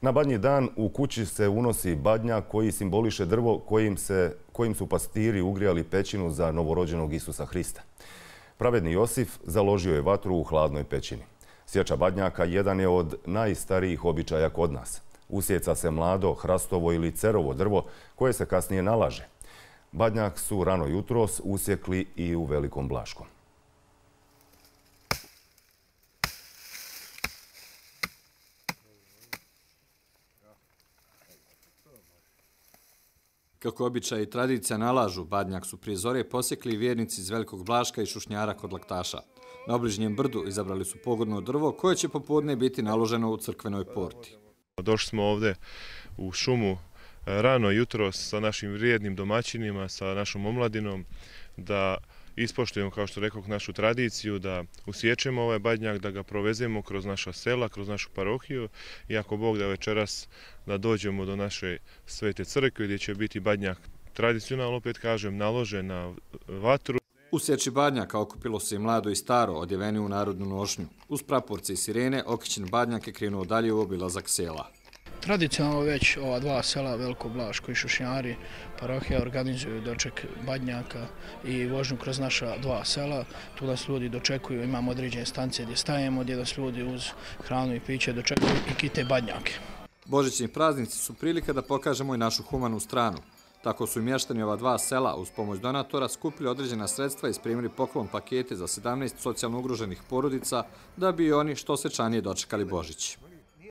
Na Badnji dan u kući se unosi badnjak koji simboliše drvo kojim su pastiri ugrijali pećinu za novorođenog Isusa Hrista. Pravedni Josif založio je vatru u hladnoj pećini. Sječa badnjaka jedan je od najstarijih običaja kod nas. Usjeca se mlado, hrastovo ili cerovo drvo koje se kasnije nalaže. Badnjak su rano jutros usjekli i u Velikom Blaškom. Kako običaj i tradicija nalažu, badnjak su prije zore posjekli vjernici iz Velikog Blaška i Šušnjara kod Laktaša. Na obližnjem brdu izabrali su pogodno drvo koje će popodne biti naloženo u crkvenoj porti. Došli smo ovdje u šumu rano jutros sa našim vrijednim domaćinima, sa našom omladinom, da ispoštujemo, kao što rekao, našu tradiciju, da usječemo ovaj badnjak, da ga provezemo kroz naša sela, kroz našu parohiju i ako Bog da večeras da dođemo do naše svete crkve gdje će biti badnjak tradicionalno, opet kažem, naložen na vatru. U sječi badnjaka okupilo se i mlado i staro, odjeveni u narodnu nošnju. Uz praporce i sirene, okićen badnjak je krenuo dalje u obilazak sela. Tradicionalno već ova dva sela, Veliko Blaško i Šušnjari, parohija organizuju doček badnjaka i vožnju kroz naša dva sela. Tu nas ljudi dočekuju, imamo određene stanice gdje stajemo, gdje nas ljudi uz hranu i piće dočekuju i kite badnjake. Božićni praznici su prilika da pokažemo i našu humanu stranu. Tako su i mještani ova dva sela uz pomoć donatora skupili određena sredstva i spremili poklon pakete za 17 socijalno ugroženih porodica da bi oni što svečanije dočekali Božić.